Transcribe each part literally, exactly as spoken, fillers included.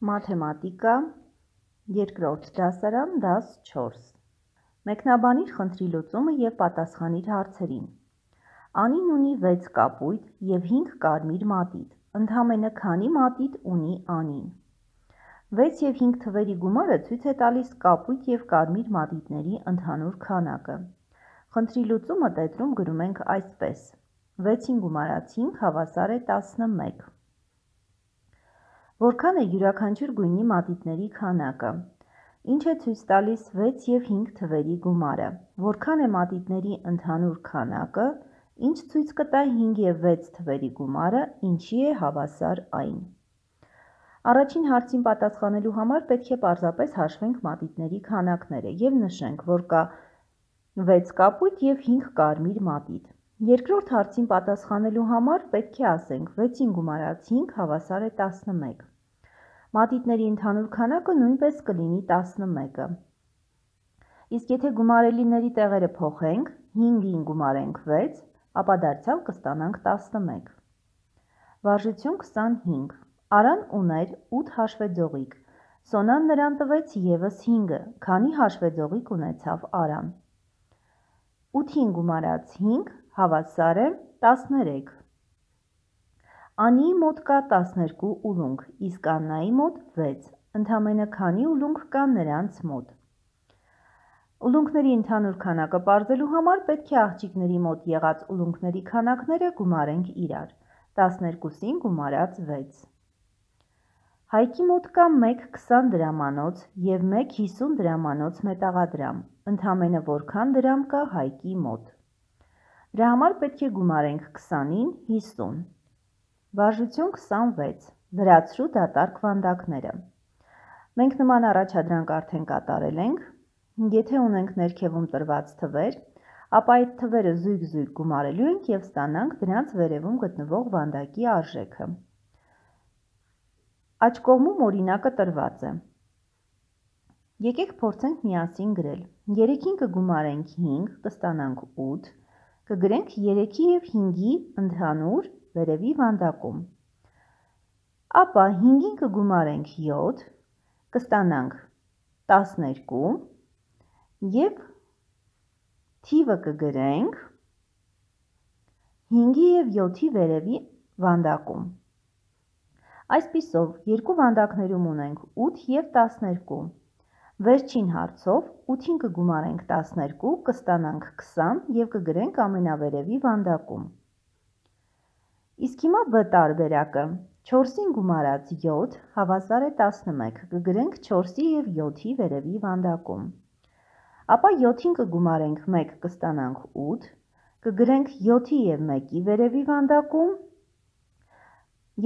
Մաթեմատիկա, երկրորդ դասարան, դաս չորս։ Մեկնաբանիր խնդրի լուծումը և պատասխանիր հարցերին։ Անին ունի վեց կապույտ և հինգ կարմիր մատիտ, ընդամենը քանի մատիտ ունի Անին։ վեց և հինգ թվերի գումարը ցույց է տալիս կապույտ և կարմիր մատիտների ընդհանուր քանակը։ Խնդրի լուծումը տետրում գրում ենք այսպես. վեցին գումարած հինգ հավասար է տասնմեկ։ Որքան է յուրաքանչյուր գույնի մատիտների քանակը։ Ինչ է ցույց տալիս վեց և հինգ թվերի գումարը։ Որքան է մատիտների ընդհանուր քանակը, ինչ ցույց կտա հինգ և վեց թվերի գումարը, ինչի է հավասար այն։ Առաջին հարցին պատասխանելու համար պետք է պարզապես հաշվենք մատիտների քանակները և նշենք, որ կա վեց կապույտ և հինգ կարմիր մատիտ։ Երկրորդ հարցին պատասխանելու համար պետք է ասենք վեցին գումարած հինգ հավասար է տասնմեկ։ Մատիտների ընդհանուր քանակը նույնպես կլինի տասնմեկը։ Իսկ եթե գումարելիների տեղերը փոխենք, հինգին գումարենք վեց, ապա դարձյալ կստանանք տասնմեկ։ Վարժություն քսանհինգ։ Արան ուներ ութ հաշվեձողիկ, Սոնան նրան տվեց ևս հինգը, քանի հաշվեձողիկ ունեցավ Արան։ ութին գումարած հինգ հավասար է տասներեք։ Անիի մոտ կա տասներկու ուլունք, իսկ Աննայի մոտ վեց, ընդամենը քանի ուլունք կա նրանց մոտ։ Ուլունքների ընդհանուր քանակը պարզելու համար պետք է աղջիկների մոտ եղած ուլունքների քանակները գումարենք իրար, տասներկուսին գումարած վեց։ Հայկի մոտ կա մեկ քսան դրամանոց և մեկ հիսուն դրամանոց մետաղադրամ, ընդամենը որքան դրամ կա Հայկի մոտ։ Դրա համար պետք է գումարենք քսանին հիսուն։ Վարժություն քսանվեց։ Լրացրու դատարկ վանդակները։ Մենք նման առաջադրանք արդեն կատարել ենք։ Եթե ունենք ներքևում տրված թվեր, ապա այդ թվերը զույգ-զույգ գումարելու ենք և ստանանք դրանց վերևում գտնվող վանդակի արժեքը։ Աջ կողմում օրինակը տրված է։ Եկեք փորձենք միասին գրել։ երեքին կգումարենք հինգ, կստանանք ութ, կգրենք երեքի և հինգի ընդհանուր վերևի վանդակում։ Ապա հինգին կգումարենք յոթ, կստանանք տասներկու և թիվը կգրենք հինգի և յոթի վերևի վանդակում։ Այսպիսով, երկու վանդակներում ունենք ութ և տասներկու։ Վերջին հարցով ութին կգումարենք տասներկու, կստանանք քսան և կգրենք ամենավերևի վանդակում։ Իսկ հիմա բ տարբերակը, չորսին գումարած յոթ հավասար է տասնմեկ, կգրենք չորսի և յոթի վերևի վանդակում։ Ապա յոթին կգումարենք մեկ, կստանանք ութ, կգրենք յոթի և մեկի վերևի վանդակում։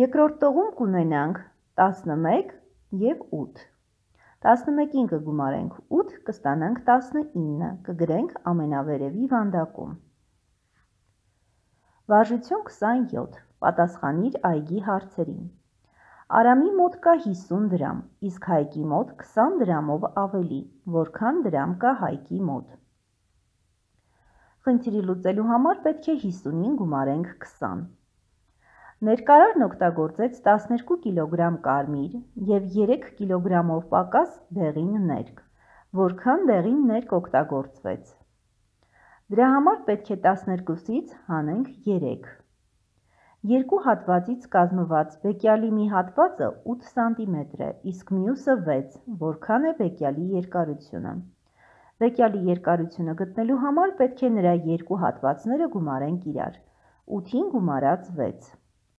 Երկրորդ տողում կունենանք տասնմեկ և ութ։ տասնմեկին կգումարենք ութ, կստանանք տասնինը, կգրենք ամենավերևի վանդակում։ Վարժություն քսանյոթ։ Պատասխանիր այգի հարցերին։ Արամի մոտ կա հիսուն դրամ, իսկ Հայկի մոտ քսան դրամով ավելի, որքան դրամ կա Հայկի մոտ։ Խնդիրը լուծելու համար պետք է հիսունին գումարենք քսան։ Ներկարարն օգտագործեց տասներկու կիլոգրամ կարմիր և երեք կիլոգրամով պակաս դեղին ներք, որքան դեղին ներք օգտագործվեց։ Դրա համար պետք է տասներկուսից հանենք երեք։ Երկու հատվածից կազմված բեկյալի մի հատվածը ութ սանտիմետր է, իսկ մյուսը վեց, որքան է բեկյալի երկարությունը։ Բեկյալի երկարությունը գտնելու համար պետք է նրա երկու հատվածները գումարենք իրար, ութին գումարած վեց։